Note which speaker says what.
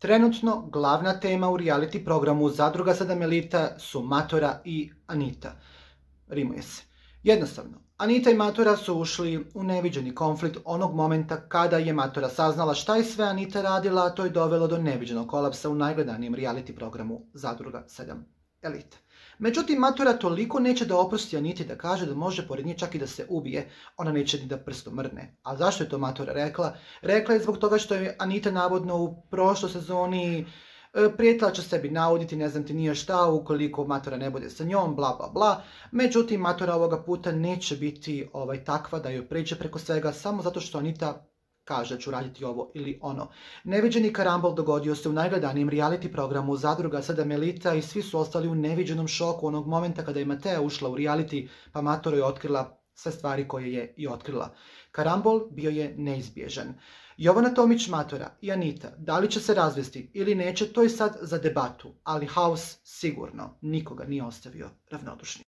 Speaker 1: Trenutno glavna tema u reality programu Zadruga 7 Elita su Matora i Anita. Rimuje se. Jednostavno, Anita i Matora su ušli u neviđeni konflikt onog momenta kada je Matora saznala šta je sve Anita radila, a to je dovelo do neviđenog kolapsa u najgledanijem reality programu Zadruga 7 Elita. Međutim, Matora toliko neće da oprosti Aniti da kaže da može pored nje čak i da se ubije, ona neće ni da prstom mrdne. A zašto je to Matora rekla? Rekla je zbog toga što je Anita navodno u prošloj sezoni prijetila će sebi nauditi, ne znam ti nije šta, ukoliko Matora ne bude sa njom, bla bla bla. Međutim, Matora ovoga puta neće biti takva da joj pređe preko svega samo zato što Anita kaže ću raditi ovo ili ono. Neviđeni karambol dogodio se u najgledanijem reality programu Zadruga 7 Elita i svi su ostali u neviđenom šoku onog momenta kada je Matea ušla u reality pa Matora je otkrila sve stvari koje je i otkrila. Karambol bio je neizbježan. Jovana Tomić, Matora i Anita, da li će se razvesti ili neće, to je sad za debatu, ali haos sigurno nikoga nije ostavio ravnodušnim.